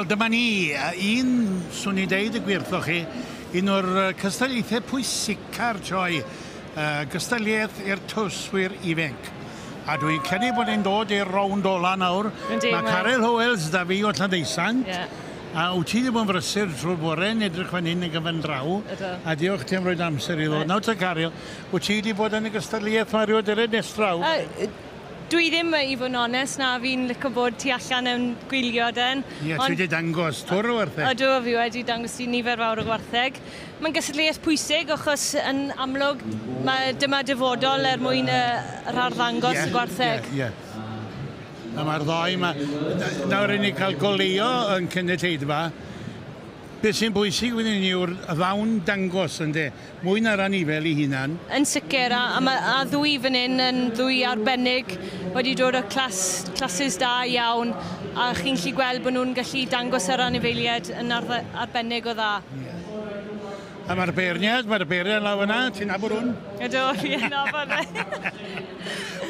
Wel, dyma ni, un, swn i'n deud y gwir wrthoch chi, un o'r cystadlaethau pwysica'r sioe, gystadleuaeth i'r tywyswyr ifanc. A dwi'n credu bod ni'n dod i'r rownd ola nawr. Yndi, Mae Caryl Howells da fi o Llanddeusant. Yeah. A wyt ti wedi bod yn brysur trwy'r bore yn edrych fan hyn yn gyfan draw. Ydw. A diolch ti am roed amser i ddod. Nawr te Caryl, wyt ti wedi bod yn y gystadleuaeth mae rhywun dere nes draw? Dwi ddim, i fod yn onest, na, fi'n licio bod tu allan yn gwylio den. Ie, ti wedi dangos twr o wartheg. Ydw, fi wedi dangos i nifer fawr o gwartheg. Mae'n gystadleuaeth pwysig, achos yn amlwg mae dyma dyfodol er mwyn yr arddangos y gwartheg. Ie, ie. A mae'r ddoi yma... Nawr i ni cael goleuo yn cynulleidfa. Beth sy'n bwysig wedyn ni yw'r ddawn dangos, ynde? Mwy na'r anifel ei hunan. Yn sicr, a a ddwy fan hyn yn ddwy arbennig, wedi dod o classes da iawn, a chi'n gallu gweld bod nhw'n gallu dangos yr anifeiliaid yn arbennig o dda. Yeah. A mae'r beirniad, mae'r beirniad lawr fyna, ti'n nabod hwn? Ydw, fi'n nabod fe.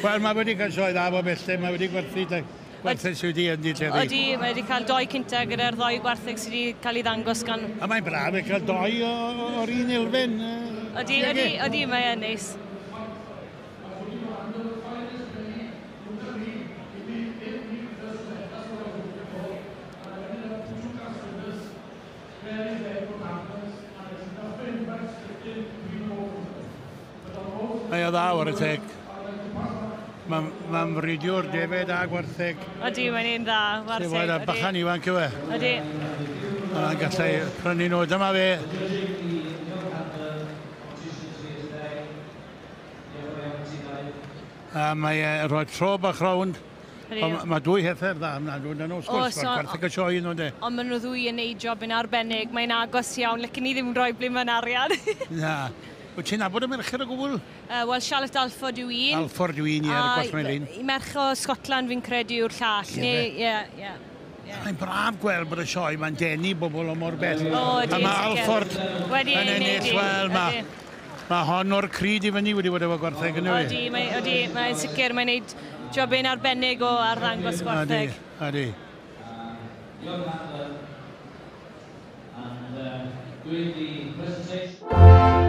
Wel, mae wedi cael sioe dda bob belled, mae wedi gwerthu gwartheg sydd wedi ennill heddi. Odi, mae wedi cael doi cynta gyda'r ddoi gwartheg sydd wedi cael ei ddangos gan... A mae'n braf i cael doi o'r un elfen. Odi, odi, odi, mae e'n neis. Mae o dda war y teg. Mae'n ma fridiwr defed a gwartheg. Odi, mae'n un dda, wartheg. Ti'n a bachan ifanc yw e. Odi. Mae'n gallai prynu nhw. Dyma fe. A mae e rhoi tro bach rownd. Ond mae dwy heffer dda yna, dwi'n nhw, wrth gwrs, mae'r gwartheg y sioe nhw, de. Ond maen nhw ddwy yn neud job yn arbennig, mae'n agos iawn, licen ni ddim rhoi ble mae'n arian. Na. Wyt ti'n nabod y merched o gwbl? Wel, Charlotte Alford yw un. Alford yw un, ie, ar y gwallt melyn. Merch o Scotland fi'n credu yw'r llall. Ie, ie. Mae'n braf gweld bod y sioe mae'n denu bobl o mor bell. O, ydy, A mae Alford yn ennill, wel, mae hon o'r cryd i fyny wedi bod efo gwartheg yn yw. Ydy, mae'n sicr, mae'n neud jobyn arbennig o arddangos gwartheg. Ydy, ydy. And doing the presentation.